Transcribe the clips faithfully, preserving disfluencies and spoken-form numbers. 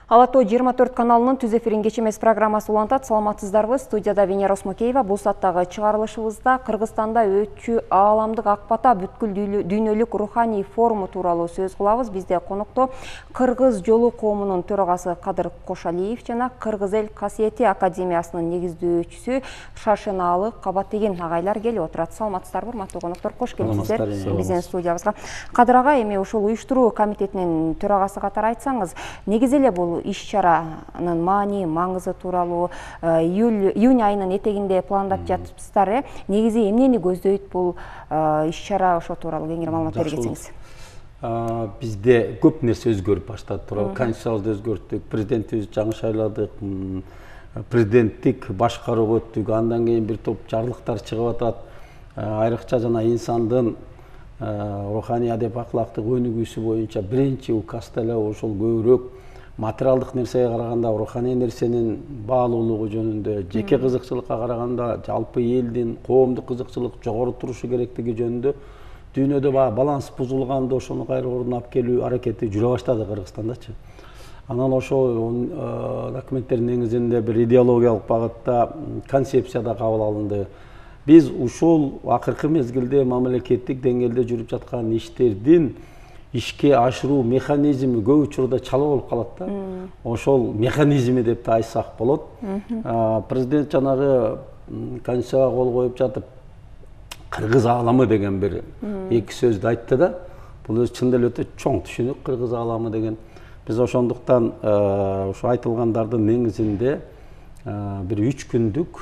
Ала тоо жыйырма төрт каналынын түз эфирин кеч эмес программасы улантат. Саламатсыздарбы? Студияда Венера Осмокеева. Бул сааттагы чыгарылышыбызда Кыргызстанда өтчү ааламдык ак бата бүткүл дүйнөлүк руханий форуму тууралуу сөз кылабыз. Бизде конокто Кыргыз жолу коомунун төрагасы Кадыр Кошалиев жана Кыргыз эл касиети академиясынын негиздөөчүсү Шашенаалы Кабатеген агайлар келип отурат. Саламатсыздарбы, урматтуу коноктор? Кош келипсиздер биздин студиябызга. Кадыр агай, эми ушул уюштуруу комитетинин төрагасы катары айтсаңыз, негизи эле бул иш-чаранын маани, маңызы тууралуу июнь айынын этегинде пландап жатыпсыздар. Негизи эмнени көздөйт бул иш-чара, ошо тууралуу кеңири маалымат бере кетсеңиз. Бизде көп нерсе өзгөрүп баштады туурабы. Конституциябызды өзгөрттүк, президентибизди жаңы шайладык, президенттик башкарууга өттүк, андан кийин бир топ жарлыктар чыгып атат. Айрыкча жана инсандын руханий адеп акылактык өнүгүүсү боюнча биринчи указда эле ошол көбүрөөк материалдык нерсеге караганда руханий нерсенин баалуулугу жөнүндө, жеке кызыкчылыкка караганда жалпы элдин коомдук кызыкчылык жогору турушу керектиги жөнүндө дүйнөдө баланс бузулганда ошону кайра ордуна алып келүү аракети жүрө баштады Кыргызстандачы. Анан ошол документтердин негизинде бир идеологиялык багытта концепция да кабыл алынды. Биз ушул акыркы мезгилде мамлекеттик деңгээлде жүрүп жаткан иштердин ишке ашыруу механизми көп учурда чала болуп калат да. Ошол механизми деп да айтсак болот. Президент жанагы конституцияга кол коюп жатып кыргыз ааламы деген бир эки сөздү айтты да. Бул өзү чындап эле өтө чоң түшүнүк, кыргыз ааламы деген. Биз ошондуктан ошо айтылгандардын негизинде бир үч күндүк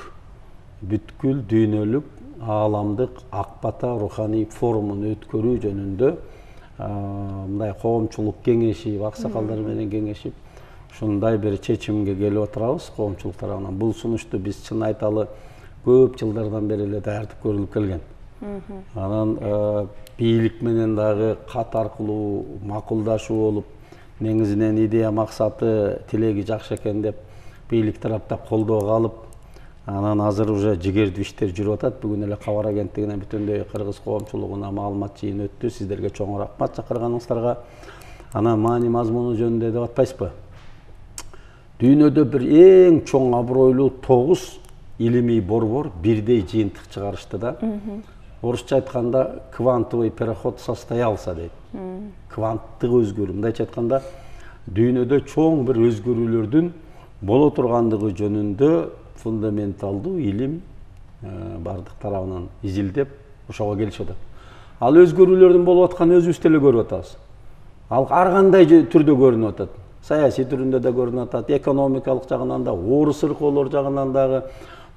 бүткүл дүйнөлүк ааламдык ак бата руханий форумун өткөрүү жөнүндө мындай коомчулук кеңеши, аксакалдар менен кеңешип, ушундай бир чечимге келип отурабыз коомчулук тарабынан. Бул сунушту биз чын айталы көп жылдардан бери эле даярдык көрүлүп келген. Анан бийлик менен дагы кат аркылуу макулдашуу болуп, негизинен идея максаты, тилеги жакшы экен деп бийлик тараптан колдоого алып, анан азыр уже жигердүү иштер жүрүп атат. Бүгүн эле кабар агенттигинен бүтүндөй кыргыз коомчулугуна маалымат жыйын өттү. Сиздерге чоң рахмат чакырганыңыздарга. Анан маани мазмуну жөнүндө деп атпайсызбы? Дүйнөдө бир эң чоң абройлуу тогуз илимий борбор бирдей жыйынтык чыгарышты да. Орусча айтканда квантовый переход состоялся дейт. Кванттык өзгөрүү. Мындайча айтканда дүйнөдө чоң бир өзгөрүүлөрдүн боло тургандыгы жөнүндө фундаменталдуу илим бардык тарабынан изилдеп ошого келишип атат. Ал өзгөрүүлөрдүн болуп атканын өзүбүз деле көрүп атабыз. Ал ар кандай түрдө көрүнүп атат. Саясий түрүндө да көрүнүп атат, экономикалык жагынан да, орус ыркоолор жагынан дагы,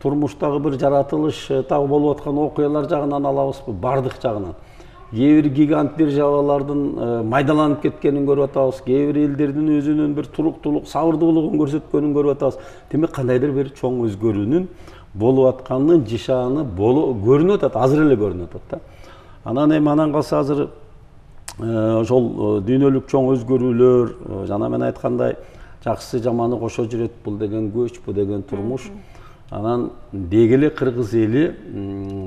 турмуштагы бир жаратылыш дагы болуп аткан окуялар жагынан алабызбы, бардык жагынан. Кээ бир гигант державалардын майдаланып кеткенин көрүп атабыз, кээ бир элдердин өзүнүн бир туруктуулук, сабырдуулугун көрсөткөнүн көрүп атабыз. Демек кандайдыр бир чоң өзгөрүүнүн болуп атканын жишааны көрүнүп атат, азыр эле көрүнүп атат да. Анан эми анан калса азыр ошол дүйнөлүк чоң өзгөрүүлөр, жана мен айткандай жакшысы жаманы кошо жүрөт, бул деген көч, бул деген турмуш. Анан деги эле кыргыз эли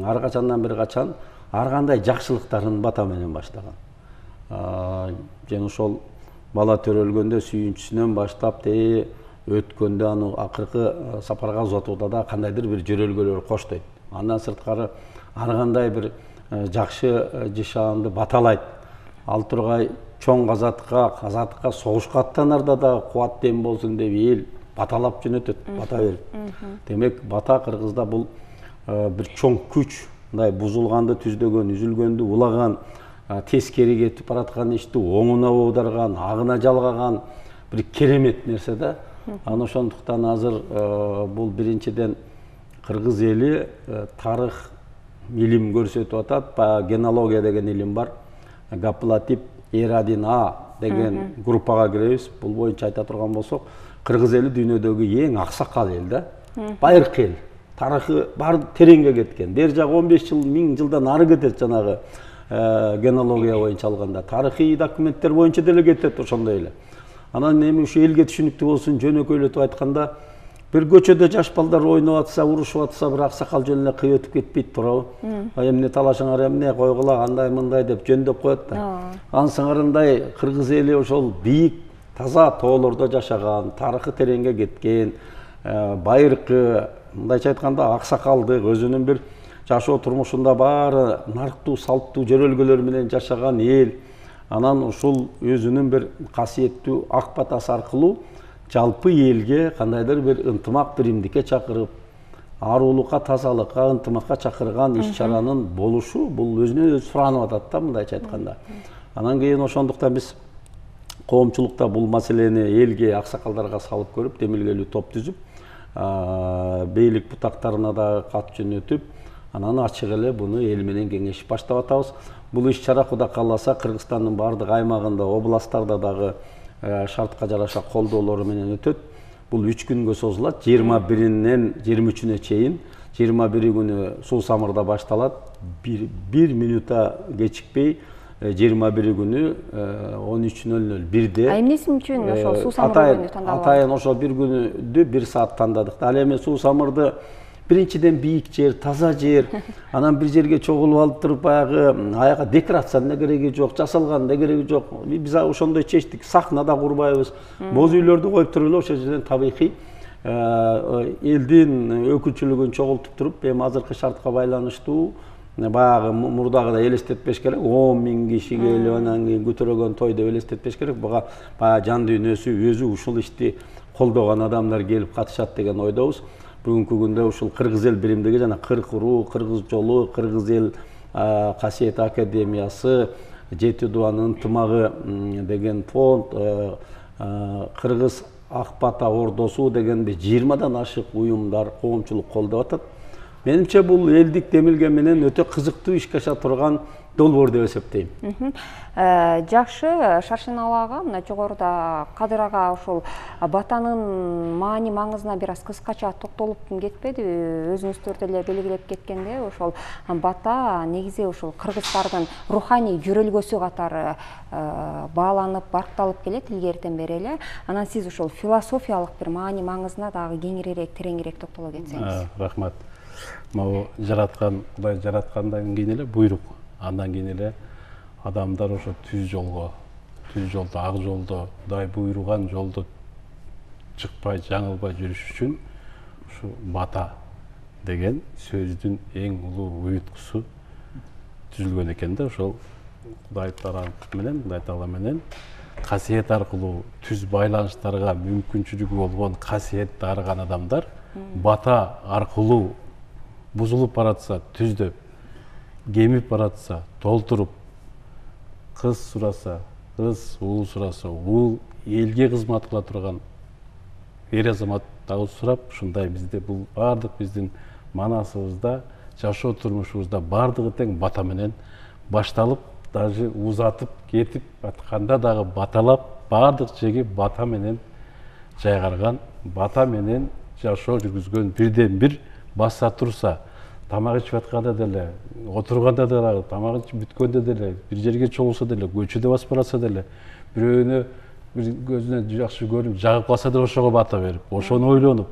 ар качандан бир качан ар кандай жакшылыктарын бата менен баштаган. Жана ошол бала төрөлгөндө сүйүнчүсүнөн баштап те өткөндө аны акыркы сапарга узатууда да кандайдыр бир жөрөлгөлөр коштойт. Андан сырткары ар кандай бир жакшы жишаанды баталайт. Ал тургай чоң казатка, казатка согушка аттанарда да кубат дем болсун деп эл баталап жөнөтөт, бата берип. Демек бата кыргызда бул бир чоң күч. Мындай бузулганды түздөгөн, үзүлгөндү улаган, тескери кетип бараткан ишти оңуна оодарган, агына жалгаган бир керемет нерсе да. Анан ошондуктан азыр бул биринчиден кыргыз эли тарых илим көрсөтүп атат. Генеалогия деген илим бар. Гаплотип эр один а деген группага киребиз. Бул боюнча айта турган болсок, кыргыз эли дүйнөдөгү эң аксакал эл да. Байыркы эл. Тарыхы бар тереңге кеткен. Бер жагы он беш жыл, миң жылдан ары кетет жанагы генеалогия боюнча алганда. Тарыхый документтер боюнча деле кетет ошондой эле. Анан эми ушу элге түшүнүктүү болсун, жөнөкөйлөтүп айтканда, бир көчөдө жаш балдар ойноп атса, урушуп атса, бир аксакал жөн эле кыйып өтүп кетпейт туурабы? Эмне талашыңар, эмне койгула, андай мындай деп жөндөп коет да. Анын сыңарындай кыргыз эли ошол бийик таза тоолордо жашаган, тарыхы тереңге кеткен, байыркы, мындайча айтканда аксакалдык, өзүнүн бир жашоо турмушунда баары нарктуу, салттуу жөрөлгөлөр менен жашаган эл. Анан ушул өзүнүн бир касиеттүү ак батасы аркылуу жалпы элге кандайдыр бир ынтымак, биримдикке чакырып, ааруулукка, тазалыкка, ынтымакка чакырган иш-чаранын болушу бул өзүнөн өзү суранып атат да, мындайча айтканда. Анан кийин ошондуктан биз коомчулукта бул маселени элге, аксакалдарга салып көрүп, демилгелүү топ түзүп, бийлик бутактарына да кат жөнөтүп, анан ачык эле буну эл менен кеңешип баштап атабыз. Бул иш-чара Кудай кааласа Кыргызстандын бардык аймагында, областтарда дагы шартка жараша колдоолору менен өтөт. Бул үч күнгө созулат. жыйырма биринен жыйырма үчүнө чейин. жыйырма бири күнү Суу Самырда башталат. бир минута кечикпей жыйырма бири күнү он үч нөл нөл бирде. А эмнеси үчүн ошол Суу Самыр күнү тандалган? Атайын ошол бир күнүдү бир саат тандадык. Ал эми Суу Самырды биринчиден бийик жер, таза жер, анан бир жерге чогулуп алып туруп баягы аяка декорациянын да кереги жок, жасалган да кереги жок. Биз ошондой чечтик, сахна да курбайбыз. Боз үйлөрдү коюп туруп эле ошол жерден табигый элдин өкүлчүлүгүн чогултуп туруп, эми азыркы шартка байланыштуу баягы мурдагыдай элестетпеш керек, он миң киши келип анан кийин көтөрөгөн той деп элестетпеш керек. Буга баягы жан дүйнөсү өзү ушул ишти колдогон адамдар келип катышат деген ойдобуз. Бүгүнкү күндө ушул Кыргыз эл биримдиги жана кырк уруу, Кыргыз жолу, Кыргыз эл касиет академиясы, Жети Дубанын ынтымагы деген фонд, Кыргыз ак бата ордосу деген жыйырмадан ашык уюмдар, коомчулук колдоп атат. Менимче бул элдик демилге менен өтө кызыктуу ишке аша турган долбоор деп эсептейм. Жакшы, Шаршеналы ага, мына жогоруда Кадыр ага ошол батанын маани маңызына бир аз кыскача токтолуп кетпедиби? Өзүңүздөр деле белгилеп кеткенде, ошол бата негизи ошол кыргыздардын руханий жөрөлгөсү катары бааланып, баркталып келет илгертен бери эле. Анан сиз ошол философиялык бир маани маңызына дагы кеңирээк, тереңирээк токтоло кетсеңиз. Рахмат. Могу жараткан, Кудай жараткандан кийин эле буйрук, андан кийин эле адамдар ошо түз жолго, түз жолдо, ак жолдо, Кудай буйруган жолдо чыкпай, жаңылбай жүрүш үчүн ушу бата деген сөздүн эң улуу уюткусу түзүлгөн экен да. Ошол Кудай Таала менен, Кудай Таала менен касиет аркылуу түз байланыштарга мүмкүнчүлүгү болгон касиетти арыган адамдар бата аркылуу бузулуп баратса, түздөп, кемип баратса, толтуруп, кыз сураса, кыз уул сураса, уул элге кызмат кыла турган эр азамат дагы сурап, ушундай бизде бул баардык биздин манасыбызда, жашоо турмушубузда баардыгы тең бата менен башталып, даже узатып кетип атканда дагы баталап, баардык жеги бата менен жайгарган, бата менен жашоо жүргүзгөн, бирден бир баса турса, тамак ичип атканда деле, отурганда деле, тамак ичип бүткөндө деле, бир жерге чогулса деле, көчөдө басып баратса деле, бирөөнө бир көзүнө жакшы көрүнүп, жагып калса деле ошого бата берип, ошону ойлонуп,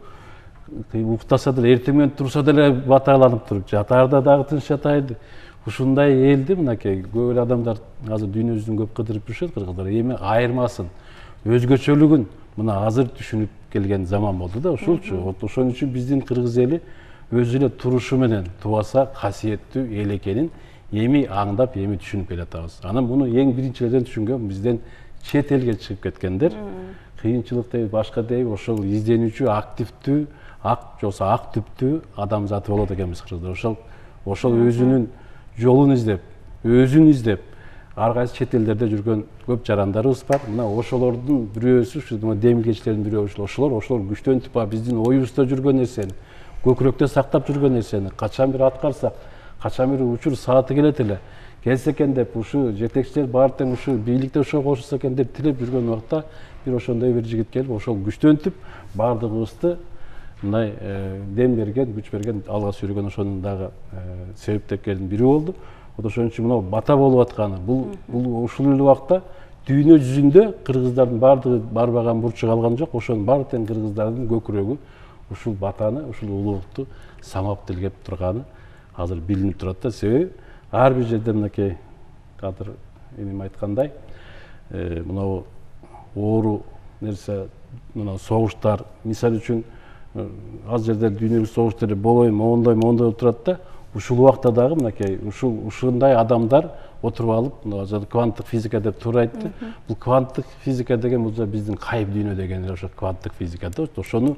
уктаса деле, эртең менен турса деле баталанып туруп, жатаарда дагы тынч жатайлы. Ушундай элди мынакей көп эле адамдар азыр дүйнөбүздүн көп кыдырып жүрүшөт кыргыздар. Эми айырмасын, өзгөчөлүгүн мына азыр түшүнүп келген заман болду да, ушулчу. Ошон үчүн биздин кыргыз эли өз эле турушу менен тубаса касиеттүү эл экенин эми аңдап, эми түшүнүп келатабыз. Анан муну эң биринчилерден түшүнгөн бизден чет элге чыгып кеткендер. Кыйынчылык дейби, башка дейби, ошол изденүүчү, активдүү, ак жолсо ак түптүү адамзаты болот экенбиз кыргыздар. Ошол ошол өзүнүн жолун издеп, өзүн издеп, ар кайсы чет элдерде жүргөн көп жарандарыбыз бар. Мына ошолордун бирөөсү, ушу демилгечилердин бирөөсү ошолор, ошолор күчтөнүп биздин оюбузда жүргөн нерсени, көкүрөктө сактап жүргөн нерсени качан бир аткарсак, качан бир учур сааты келет эле, келсе экен деп, ушу жетекчилер баары тең ушу бийликте ошо кошулса экен деп тилеп жүргөн убакта бир ошондой бир жигит келип, ошол күчтөнтүп, баардыгыбызды мындай дем берген, күч берген, алга сүйрөгөн ошонун дагы себептердин бири болду. Ошон үчүн мына бата болуп атканы, бул бул ушул эле убакта дүйнө жүзүндө кыргыздардын баардыгы барбаган бурчу калган жок. Ошонун баары тең кыргыздардын көкүрөгү ушул батаны, ушул улуулукту самап тилгеп турганы азыр билинип турат да. Себеби ар бир жерде мынакей Кадыр энем айткандай, мына оору нерсе мына согуштар мисалы үчүн ал жерде дүйнөлүк согуштар болбой моундай моундай болуп турат да, ушул убакта дагы мынакей ушул ушундай адамдар отуруп алып мына кванттык физика деп туура айтты. Бул кванттык физика деген бул биздин кайып дүйнө деген ошо кванттык физика да. Ошону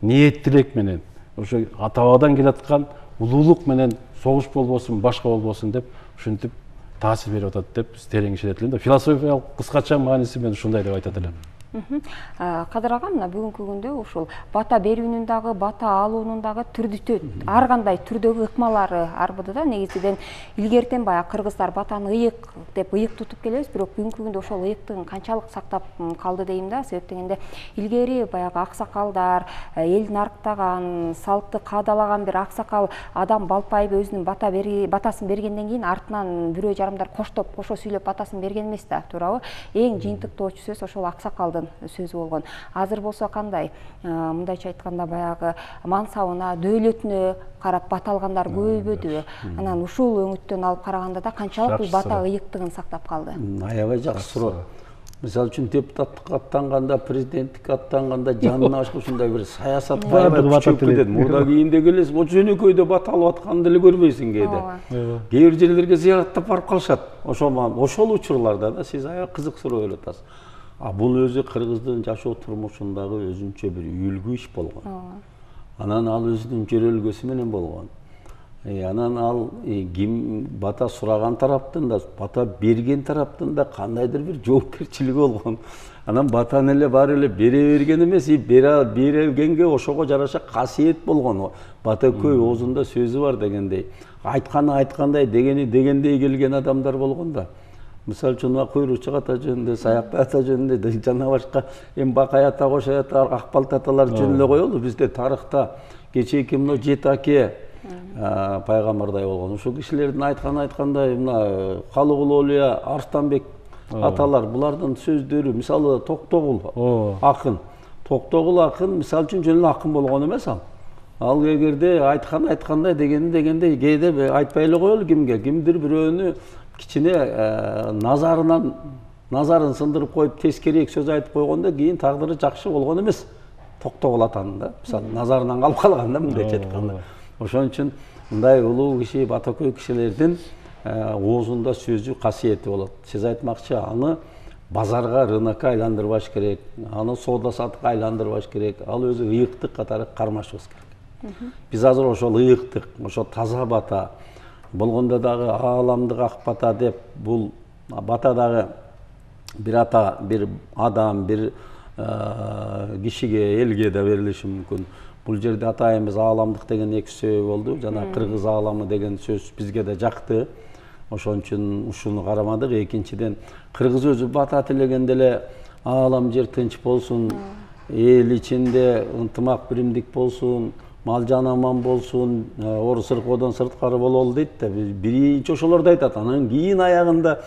ниеттилик менен ошо ата бабадан келаткан улуулук менен согуш болбосун, башка болбосун деп ушинтип таасир берип атат деп терең ишенет элем да. Философиялык кыскача мааниси мен ушундай деп айтат элем. Кадыр ага, мына бүгүнкү күндө ушул бата берүүнүн дагы, бата алуунун дагы түрдү ар кандай түрдөгү ыкмалары арбыды да. Негизинен илгертен баягы кыргыздар батаны ыйык деп ыйык тутуп келебиз, бирок бүгүнкү күндө ошол ыйыктыгын канчалык сактап калды дейм да. Себеп дегенде илгери баягы аксакалдар, элдин арктаган, салтты кадалаган бир аксакал адам балпайып өзүнүн бата батасын бергенден кийин артынан бирөө жарымдар коштоп, кошо сүйлөп батасын берген эмес да, туурабы? Эң жыйынтыктоочу сөз ошол аксакалдын сөзү болгон. Азыр болсо кандай? Мындайча айтканда баягы мансабына, дөөлөтүнө карап бата алгандар көбөйбөдүбү? Анан ушул өңүттөн алып караганда да канчалык бул бата ыйыктыгын сактап калды? Аябай жакшы суроо. Мисалы үчүн депутаттыкка аттанганда, президенттикке аттанганда жанына башка ушундай бир саясат аябай күчөп кетет. Мурда кийинде келесиң, о жөнөкөйдө бата алып атканын деле көрбөйсүң кээде. Кээ бир жерлерге зыяраттап барып калышат. Ошол ошол учурларда да сиз аябай кызык суроо берип атасыз. А бул өзү кыргыздын жашоо турмушундагы өзүнчө бир үлгү иш болгон. Анан ал өзүнүн жөрөлгөсү менен болгон. Анан ал ким бата сураган тараптын да, бата берген тараптын да кандайдыр бир жоопкерчилиги болгон. Анан батаны эле баары эле бере берген эмес, бере бергенге ошого жараша касиет болгон. Бата көй оозунда сөзү бар дегендей. Айтканы айткандай, дегени дегендей келген адамдар болгон да. Мисалы үчүн куйрукчук ата жөнүндө, Саякбай ата жөнүндө, жана башка эми Бакай ата, Кошой ата, Акбалт аталар жөнүндө эле коелу. Бизде тарыхта кечээки мына жети аке пайгамбардай болгон. Ушул кишилердин айтканы айткандай, мына Калыгул Олия, Арстанбек аталар, булардын сөздөрү, мисалы Токтогул акын. Токтогул акын мисалы үчүн жөн эле акын болгон эмес ал. Ал эгерде айткан айткандай, дегени дегендей, кээде айтпай эле коелу кимге, кимдир бирөөнү кичине назарынан назарын сындырып коюп тескерээк сөз айтып койгондо кийин тагдыры жакшы болгон эмес. Токтогул атанын да, мисалы назарынан калып калган да мындайча айтканда. Ошон үчүн мындай улуу киши, батакөй кишилердин оозунда сөзү касиети болот. Сиз айтмакчы, аны базарга, рынокко айландырбаш керек, аны соода саттыкка айландырбаш керек. Ал өзү ыйыктык катары кармашыбыз керек. Биз азыр ошол ыйыктык, ошол таза бата болгондо дагы ааламдык ак бата деп, бул бата дагы бир ата, бир адам, бир кишиге, элге да берилиши мүмкүн. Бул жерде атайыбыз ааламдык деген эки сөзү болду. Жана кыргыз ааламы деген сөз бизге да жакты. Ошон үчүн ушуну карамадык. Экинчиден, кыргыз өзү бата тилегенде эле аалам жер тынч болсун, эл ичинде ынтымак биримдик болсун, мал жан аман болсун, ор сыркоодон сырткары бололу дейт да. Биринчи ошолорду айтат. Анан кийин аягында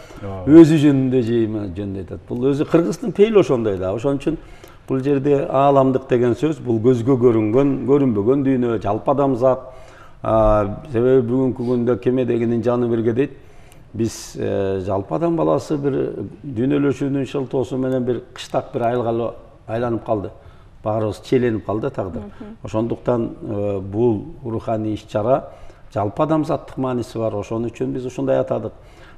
өзү жөнүндө жейме жөнүндө айтат. Бул өзү кыргыздын пейили ошондой да. Ошон үчүн бул жерде ааламдык деген сөз бул көзгө көрүнгөн, көрүнбөгөн дүйнө, жалпы адамзат. Себеби бүгүнкү күндө кеме дегенин жаны бирге дейт. Биз жалпы адам баласы бир дүйнөлөшүүнүн шылтоосу менен бир кыштак бир айылга айланып калды. Баарыбыз челенип калды тагдыр. Ошондуктан бул руханий иш-чара жалпы адамзаттык мааниси бар. Ошон үчүн биз ушундай атадык.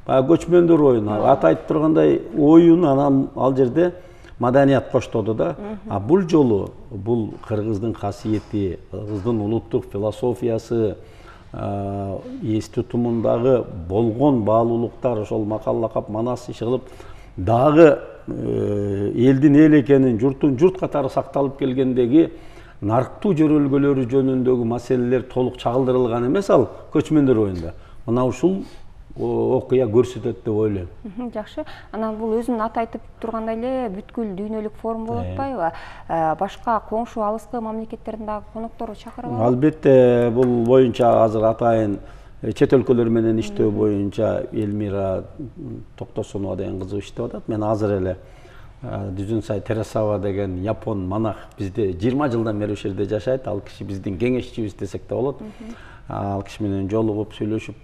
Баягы көчмөндөр оюну, аты айтып тургандай оюн анан ал жерде маданият коштоду да. А бул жолу бул кыргыздын касиети, кыргыздын улуттук философиясы, эс тутумундагы болгон баалуулуктар, ошол макал лакап манас иши кылып дагы элдин эл экенин, журттун журт катары сакталып келгендеги нарктуу жөрөлгөлөрү жөнүндөгү маселелер толук чагылдырылган эмес ал көчмөндөр оюнда. Мына ушул окуя көрсөтөт деп ойлойм. Жакшы. Анан бул өзүнүн аты айтып тургандай эле бүткүл дүйнөлүк форум болуп атпайбы? Башка коңшу алыскы мамлекеттердин дагы коноктору чакырылат. Албетте, бул боюнча азыр атайын чет өлкөлөр менен иштөө боюнча Элмира Токтосунова деген кызы иштеп атат. Мен азыр эле Дүзүнсай Терасава деген япон монах бизде жыйырма жылдан бери ошол жерде жашайт. Ал киши биздин кеңешчибиз десек да болот. Ал киши менен жолугуп, сүйлөшүп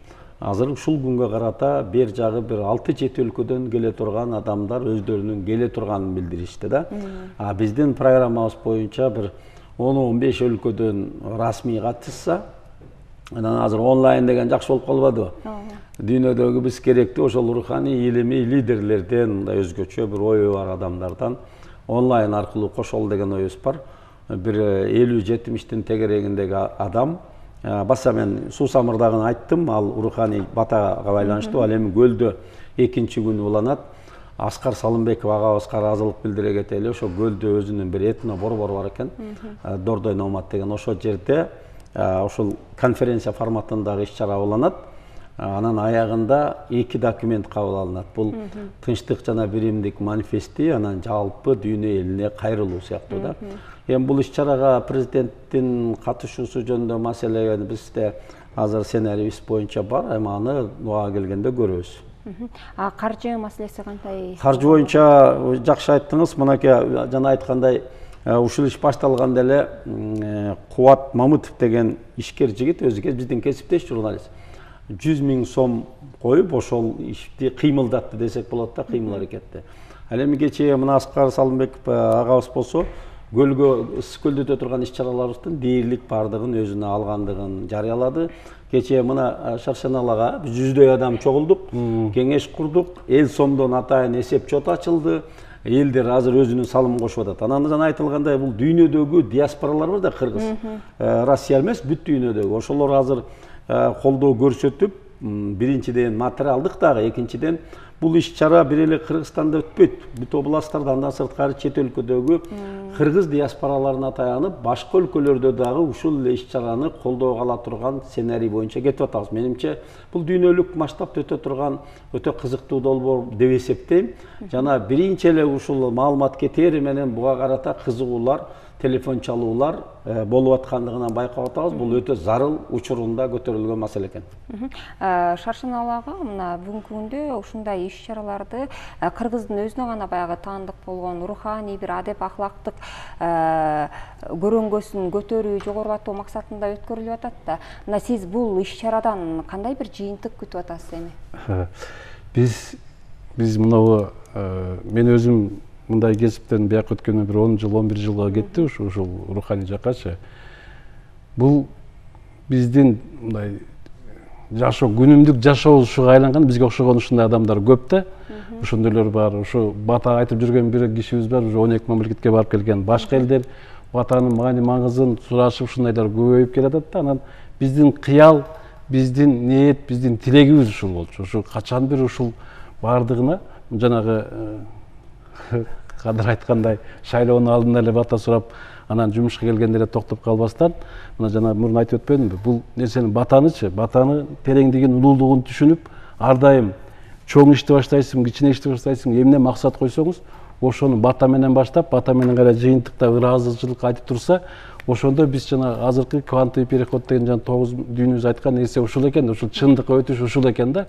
азыр ушул күнгө карата бер жагы бир алты жети өлкөдөн келе турган адамдар өздөрүнүн келе турганын билдиришти да. А биздин программабыз боюнча бир он он беш өлкөдөн расмий катышса, анан азыр онлайн деген жакшы болуп калбадыбы? Дүйнөдөгү биз керектүү ошол руханий илимий лидерлерден, мындай өзгөчө бир ою бар адамдардан онлайн аркылуу кошол деген оюбуз бар. Бир элүү жетимиштин тегерегиндеги адам, баса мен суусамырдагын айттым, ал руханий батага байланыштуу, ал эми көлдө экинчи күнү уланат. Аскар Салымбеков агабызга ыраазылык билдире кетели, ошо көлдө өзүнүн бир этно борбору бар экен, Дордой Номад деген, ошол жерде ошол конференция форматындагы иш-чара уланат. Анан аягында эки документ кабыл алынат. Бул тынчтык жана биримдик манифести, анан жалпы дүйнө элине кайрылуу сыяктуу да. Эми бул иш-чарага президенттин катышуусу жөнүндө маселе бизде азыр сценарийибиз боюнча бар, эми аны убага келгенде көрөбүз. А каржы маселеси кандай? Каржы боюнча жакшы айттыңыз. Мынакей жана айткандай, ушул иш башталганда эле Кубат Мамытов деген ишкер жигит, өзү биздин кесиптеш журналист, жүз миң сом коюп ошол ишти кыймылдатты десек болот да, кыймыл аракетти. Ал эми кечээ мына Аскар Салымбеков агабыз болсо, көлгө ысык көлдө өтө турган иш-чараларыбыздын дээрлик бардыгын өзүнө алгандыгын жарыялады. Кечээ мына Шаршеналага жүздөй адам чогулдук, кеңеш курдук, эл сомдон атайын эсеп чот ачылды. Элдер азыр өзүнүн салымын кошуп атат. Анан жана айтылгандай, бул дүйнөдөгү диаспоралар бар да, Кыргыз, Россия эмес, бүт дүйнөдөгү. Ошолор азыр колдоо көрсөтүп, биринчиден материалдык дагы, экинчиден бул иш-чара бир эле Кыргызстанда өтпөйт. Бүт областтарда, андан сырткары чет өлкөдөгү кыргыз диаспораларына таянып, башка өлкөлөрдө дагы ушул эле иш-чараны колдоого ала турган сценарий боюнча кетип атабыз. Менимче бул дүйнөлүк масштабта өтө турган өтө кызыктуу долбоор деп эсептейм. Жана биринчи эле ушул маалымат кетери менен буга карата кызыгуулар, телефон чалуулар болуп аткандыгынан байкап атабыз. Бул өтө зарыл учурунда көтөрүлгөн маселе экен. Шаршеналага мына бүгүнкү күндө ушундай иш-чараларды Кыргыздын өзүнө гана баягы таандык болгон руханий бир адеп ахлактык көрөнгөсүн көтөрүү, жогорулатуу максатында өткөрүлүп атат да. Мына сиз бул иш-чарадан кандай бир жыйынтык күтүп атасыз эми? Биз биз мынабу мен өзүм мындай кесиптен бияк өткөнү бир он жыл, он бир жылга кетти ушул руханий жакачы. Бул биздин мындай жашоо, күнүмдүк жашообузга айланган, бизге окшогон ушундай адамдар көп да. Ошондойлор бар. Ушу бата айтып жүргөн бир кишибиз бар, уже он эки мамлекетке барып келген. Башка элдер батанын маани маңызын сурашып ушундайлар көбөйүп келатат да. Анан биздин кыял, биздин ниет, биздин тилегибиз ушул болчу. Ушу качан бир ушул бардыгына жанагы Кадыр айткандай, шайлоонун алдында эле бата сурап, анан жумушка келгенде эле токтоп калбастан, мына жана мурун айтып өтпөдүмбү? Бул нерсени батанычы, батаны тереңдигин, улуулугун түшүнүп, ар дайым чоң ишти баштайсың, кичине ишти баштайсың, эмне максат койсоңуз, ошону бата менен баштап, бата менен гана жыйынтыкта ыраазычылык айтып турса, ошондо биз жана азыркы квантовый переход деген жана тогуз дүйнөбүз айткан нерсе ушул экен, ушул чындыкка өтүш ушул экен да.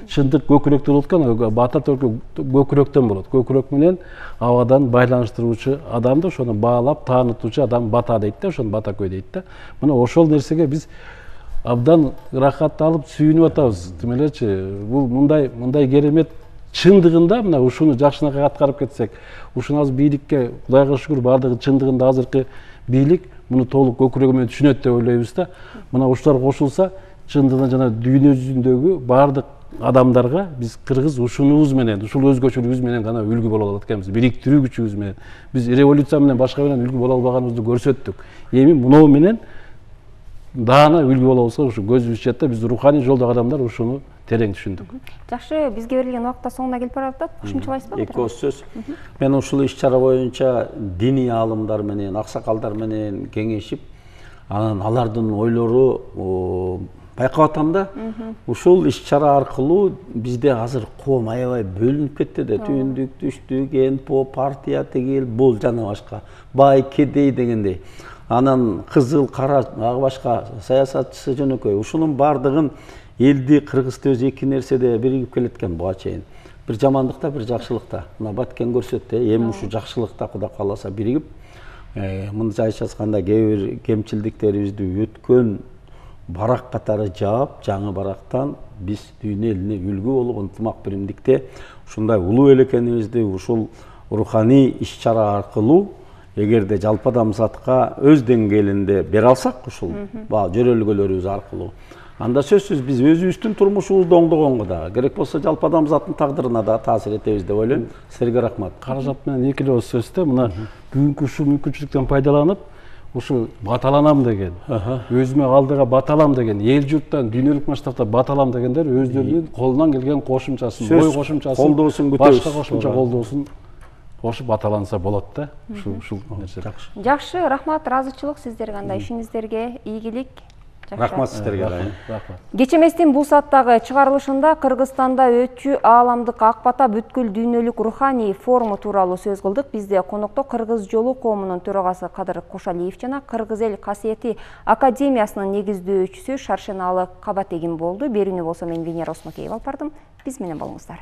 Чындык көкүрөктө болот экен, бата только көкүрөктөн болот. Көкүрөк менен абадан байланыштыруучу адамды, ошону баалап, таанытуучу адам бата дейт да, ошону бата көй дейт да. Мына ошол нерсеге биз абдан ырахат алып сүйүнүп атабыз. Тим элечи, бул мындай мындай керемет чындыгында мына ушуну жакшынакай аткарып кетсек, ушуну азыр бийликке Кудайга шүгүр бардыгы чындыгында азыркы бийлик муну толук көкүрөгү менен түшүнөт деп ойлойбуз да. Мына ушулар кошулса, чындыгында жана дүйнө жүзүндөгү бардык адамдарга биз кыргыз ушунубуз менен, ушул өзгөчөлүгүбүз менен гана үлгү боло алат экенбиз. Бириктирүү күчүбүз менен. Биз революция менен башка менен үлгү боло албаганыбызды көрсөттүк. Эми мунуу менен даана үлгү болобузга ушу көзүбүз жетет да, биз руханий жолдогу адамдар ушуну терең түшүндүк. Жакшы, бизге берилген убакта соңуна келип баратат. Кошумчалайсызбы? Эки ооз сөз. Мен ушул иш-чара боюнча диний аалымдар менен, аксакалдар менен кеңешип, анан алардын ойлору байкап атам да. Ушул иш-чара аркылуу бизде азыр коом аябай бөлүнүп кетти да. Түндүк, түштүк, эн-по, партия, тигил, бул жана башка. Бай, кедей дегендей. Анан кызыл, кара, ага башка саясатчысы жөнөкөй. Ушунун бардыгын элди, Кыргызды өз эки нерседе биригип келеткен буга чейин. Бир жамандыкта, бир жакшылыкта. Мына Баткен көрсөттү, эми ушу жакшылыкта Кудай кааласа биригип, мындайча айтканда кээ бир кемчилдиктерибизди өткөн барак катары жаап, жаңы барактан биз дүйнө элине үлгү болуп ынтымак биримдикте ушундай улуу эл экенибизди ушул руханий иш-чара аркылуу эгерде жалпы адамзатка өз деңгээлинде бере алсак, ушул жөрөлгөлөрүбүз аркылуу, анда сөзсүз биз өзүбүздүн турмушубузду оңдогонго дагы, керек болсо жалпы адамзаттын тагдырына да таасир этебиз деп ойлойм. Силерге рахмат. Каражат менен эки эле ооз сөздө мына бүгүнкү ушул мүмкүнчүлүктөн пайдаланып, ушу баталанам деген, өзүмө алдыга баталам деген, эл журттан дүйнөлүк масштабта баталам дегендер өздөрүнүн колунан келген кошумчасын, ой кошумчасын, колдоосун күтөбүз. Башка кошумча колдоосун кошуп баталанса болот да. Ушул ушул нерсе. Жакшы. Жакшы, рахмат, ыраазычылык сиздерге, андай ишиңиздерге ийгилик. Рахмат сиздерге. Рахмат. Кечеместин бул сааттагы чыгарылышында Кыргызстанда өтчү ааламдык ак бата бүткүл дүйнөлүк руханий форуму тууралуу сөз кылдык. Бизде конокто Кыргыз жолу коомунун төрагасы Кадыр Кошалиев жана Кыргыз эл касиети академиясынын негиздөөчүсү Шаршеналы Кабатегин болду. Берүүнү болсо мен Венера Осмокеева алып бардым. Биз менен болуңуздар.